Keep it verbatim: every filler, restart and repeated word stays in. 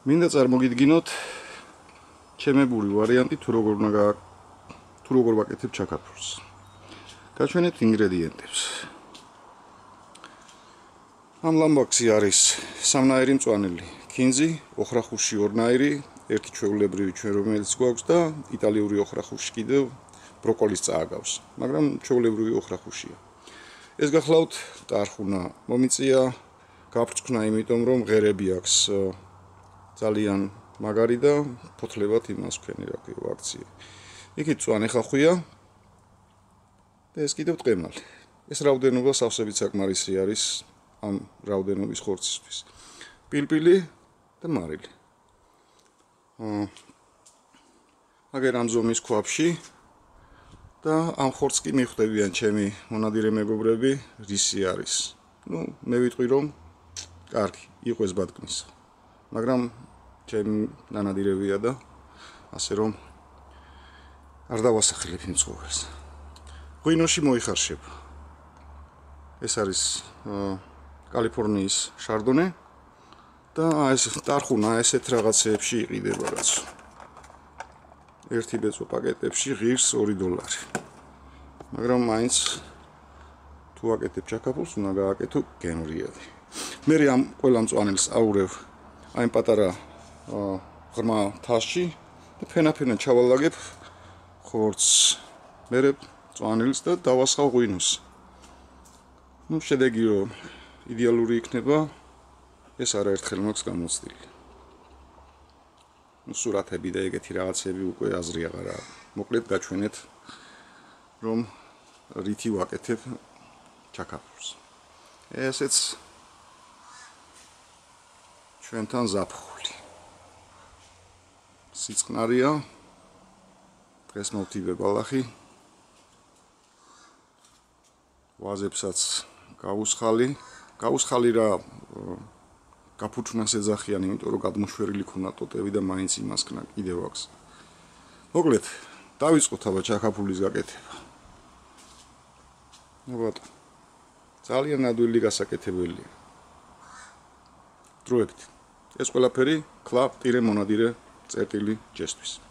მინდა წარმოგიდგინოთ ჩემებური ვარიანტი თუ როგორ უნდა თუ როგორ ვაკეთებ ჩაქაფურს. გაჩვენეთ ინგრედიენტებს. ამ ლამბაქსი არის სამნაირი მწვანელი, ქინძი, ოხრახუში ორნაირი, ერთი ჩვეულებრივი ჩვენ რომელიც გვაქვს და იტალიური ოხრახუში კიდევ ბროკოლის წააგავს, მაგრამ ჩვეულებრივი ოხრახუშია. ეს გახლავთ ტარხუნა მომიწია, გაბრწყნა, იმიტომ რომ ღერები აქვს ძალიან მაგარი და ფოთლებად იმას ვქენი რა ქვია აქცია. იქით მწვანე ხახვია და ეს კიდევ ტყემალი. ეს რაოდენობა სავსებით საკმარისი არის ამ რაოდენობის ხორცისთვის. პილპილი და მარილი. აა აგერ ამ ზომის ქვაბში და ამ ხორცს კი მიხვდებიან ჩემი მონადირე მეგობრები, რისი არის. ნუ მე ვიტყვი რომ კარგი, იყვეს ბატკნის. მაგრამ ჩემი ნანადირებია და ასე რომ არ დავასახელებ იმ ცხოველს. ღვინოში მოიხარშება. ეს არის კალიფორნიის შარდონე და ეს ტარხუნა ესეთ რაღაცეებში იყიდება რაც. ერთი ბეწვა პაკეტებში ღირს ორი დოლარი. მაგრამ მაინც თუ აკეთებ ჩაქაფულს, უნდა გააკეთო გემრიელი. მე ამ ყველა მწვანელს აურევ აი პატარა ღრმა თასში და ფენა-ფენა ჩავალაგებ ხორცს. მერე მწვანელს და დავასხავ ღვინოს. ნუ შედეგი რომ იდეალური იქნება, ეს არაერთხელ მაქვს გამოცდილი. ნუ სურათები და ეგეთი რაღაცები უკვე აზრი აღარ აქვს. მოკლედ გაჩვენეთ რომ რითი ვაკეთებ ჩაქაფურს. ესეც ჩვენთან ზაფხული. სიწყნარია, დღეს მოვთიბე ბალახი. ვაზებსაც გავუსხალი, გავუსხალი რა გაფუჩნას ეძახიან, იმიტომ რომ გადმოშვერილი ქონა ტოტები და მაინც იმას ქნა კიდევ აქვს. მოკლედ, დავიწყოთ აბა ჩაქაფულის გაკეთება. ნუ ბატონო. ძალიან ადვილი გასაკეთებელია. დროებით. ეს ყველაფერი ქლა ტირე მონადირე წერტილი ჯესთვის.